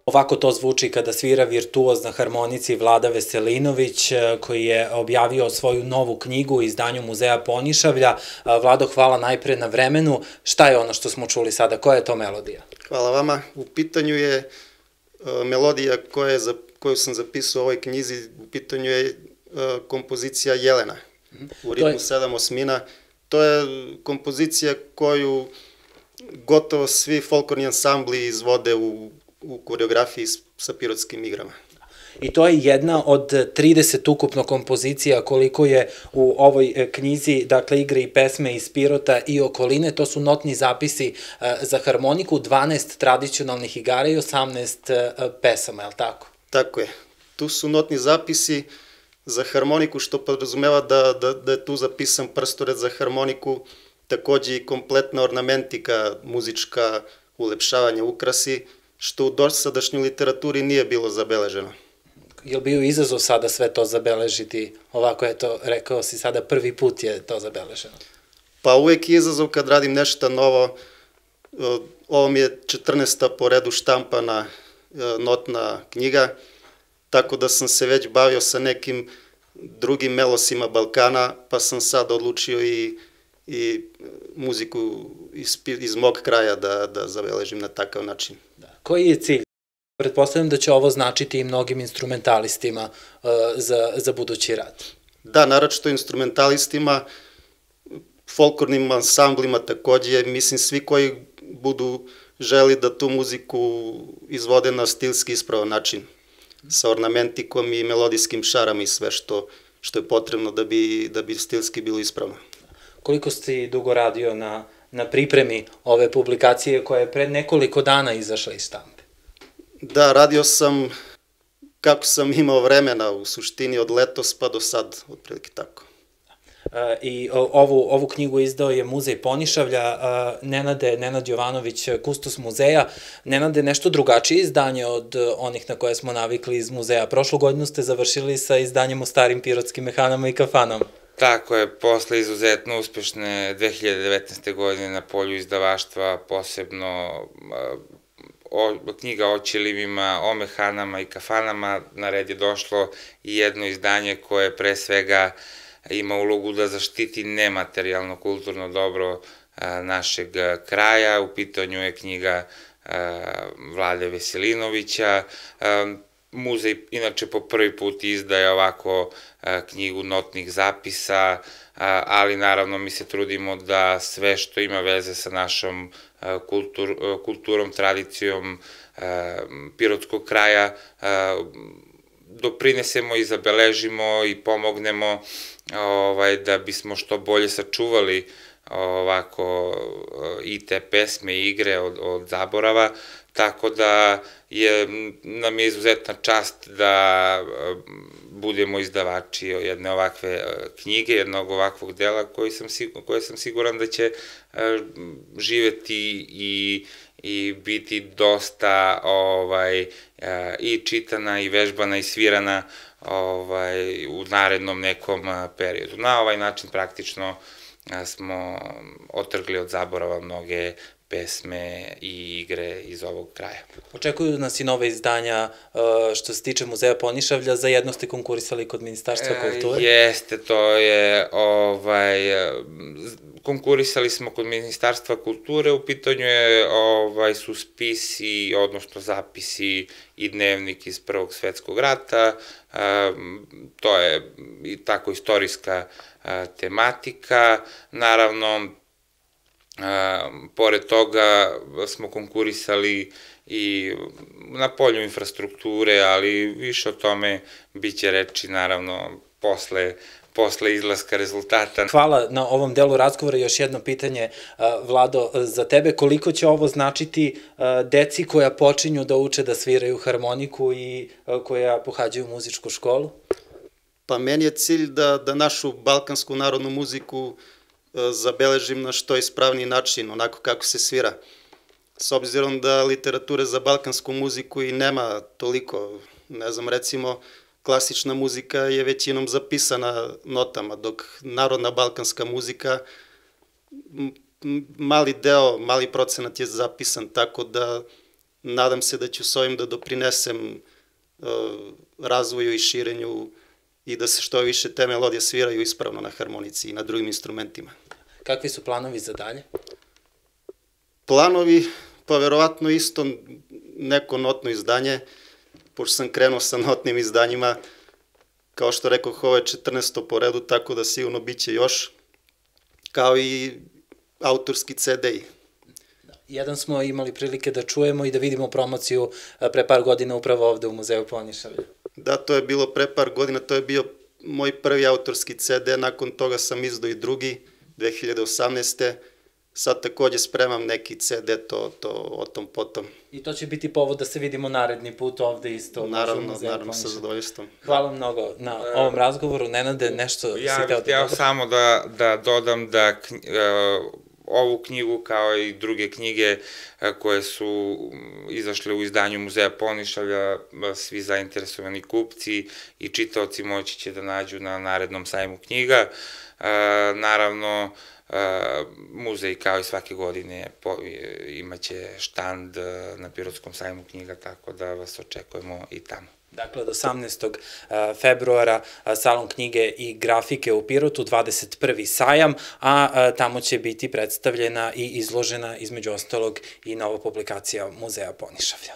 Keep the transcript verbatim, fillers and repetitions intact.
Ovako to zvuči kada svira virtuoz na harmonici Vlada Veselinović, koji je objavio svoju novu knjigu u izdanju Muzeja Ponišavlja. Vlado, hvala najpre na vremenu. Šta je ono što smo čuli sada? Koja je to melodija? Hvala vama. U pitanju je melodija koju sam zapisao u ovoj knjizi. U pitanju je kompozicija Jelena u ritmu sedam osmina. To je kompozicija koju gotovo svi folklorni ansambli izvode u u koreografiji sa pirotskim igrama. I to je jedna od trideset ukupno kompozicija koliko je u ovoj knjizi, dakle igre i pesme iz Pirota i okoline, to su notni zapisi za harmoniku, dvanaest tradicionalnih igara i osamnaest pesama, je li tako? Tako je. Tu su notni zapisi za harmoniku, što podrazumeva da je tu zapisan prstored za harmoniku, takođe i kompletna ornamentika, muzička, ulepšavanja, ukrasi, što u dosadašnjoj literaturi nije bilo zabeleženo. Je li bio izazov sada sve to zabeležiti? Ovako je to, rekao si sada, prvi put je to zabeleženo. Pa uvek je izazov kad radim nešto novo. Ovo mi je četrnaesta po redu štampana notna knjiga, tako da sam se već bavio sa nekim drugim melosima Balkana, pa sam sad odlučio i muziku iz mog kraja da zabeležim na takav način. Koji je cilj? Pretpostavljam da će ovo značiti i mnogim instrumentalistima za budući rad. Da, naročito instrumentalistima, folklornim ansamblima takođe, mislim svi koji budu želi da tu muziku izvode na stilski ispravan način, sa ornamentikom i melodijskim šarama i sve što je potrebno da bi stilski bilo ispravno. Koliko si dugo radio na na pripremi ove publikacije koja je pred nekoliko dana izašla iz štampe? Da, radio sam kako sam imao vremena, u suštini od letos pa do sad, otprilike tako. I ovu knjigu izdao je Muzej Ponišavlja, Nenade, Nenad Jovanović, kustos muzeja. Nenade, nešto drugačije izdanje od onih na koje smo navikli iz muzeja. Prošlu godinu ste završili sa izdanjem o starim pirotskim mehanama i kafanama. Tako je, posle izuzetno uspešne dve hiljade devetnaeste. godine na polju izdavaštva, posebno knjiga o ćilimima, o mehanama i kafanama, na red je došlo i jedno izdanje koje pre svega ima ulogu da zaštiti nematerijalno kulturno dobro našeg kraja. U pitanju je knjiga Vlade Veselinovića. Muzej inače po prvi put izdaje ovako knjigu notnih zapisa, ali naravno mi se trudimo da sve što ima veze sa našom kulturom, tradicijom pirotskog kraja doprinesemo i zabeležimo i pomognemo da bismo što bolje sačuvali ovako i te pesme i igre od zaborava, tako da nam je izuzetna čast da budemo izdavači jedne ovakve knjige, jednog ovakvog dela koje sam siguran da će živeti i biti dosta i čitana i vežbana i svirana u narednom nekom periodu. Na ovaj način praktično smo otrgli od zaborava mnoge pesme i igre iz ovog kraja. Očekuju nas i nove izdanja što se tiče Muzeja Ponišavlja, za jedno ste konkurisali kod Ministarstva kulture? Jeste, to je, konkurisali smo kod Ministarstva kulture, u pitanju su spisi, odnosno zapisi i dnevnik iz Prvog svetskog rata, to je tako istorijska tematika, naravno, pored toga smo konkurisali i na polju infrastrukture, ali više o tome bit će reči naravno posle izlaska rezultata. Hvala na ovom delu razgovora. Još jedno pitanje, Vlado, za tebe. Koliko će ovo značiti deci koja počinju da uče da sviraju harmoniku i koja pohađaju muzičku školu? Pa meni je cilj da našu balkansku narodnu muziku zabeležim na što ispravniji način, onako kako se svira. S obzirom da literature za balkansku muziku i nema toliko, ne znam, recimo, klasična muzika je većinom zapisana notama, dok narodna balkanska muzika, mali deo, mali procenat je zapisan, tako da nadam se da ću s ovim da doprinesem razvoju i širenju i da se što više te melodije sviraju ispravno na harmonici i na drugim instrumentima. Kakvi su planovi za dalje? Planovi, pa verovatno isto neko notno izdanje, pošto sam krenuo sa notnim izdanjima, kao što rekoh, ovo je četrnaesto po redu, tako da sigurno bit će još, kao i autorski ce de-i. Jedan smo imali prilike da čujemo i da vidimo promociju pre par godina upravo ovde u Muzeju Ponišavlja. Da, to je bilo pre par godina, to je bio moj prvi autorski ce de, nakon toga sam izdao i drugi, dve hiljade osamnaeste. Sad takođe spremam neki ce de, to o tom potom. I to će biti povod da se vidimo naredni put ovde isto. Naravno, naravno, sa zadovoljstvom. Hvala mnogo na ovom razgovoru. Nenade, nešto si ja teo da bih hteo samo da dodam da ovu knjigu, kao i druge knjige koje su izašle u izdanju Muzeja Ponišavlja, svi zainteresovani kupci i čitaoci moći će da nađu na narednom sajmu knjiga. Naravno, muzej kao i svake godine imaće štand na Pirotskom sajmu knjiga, tako da vas očekujemo i tamo. Dakle, od osamnaestog februara Salon knjige i grafike u Pirotu, dvadeset prvi sajam, a tamo će biti predstavljena i izložena između ostalog i nova publikacija Muzeja Ponišavlja.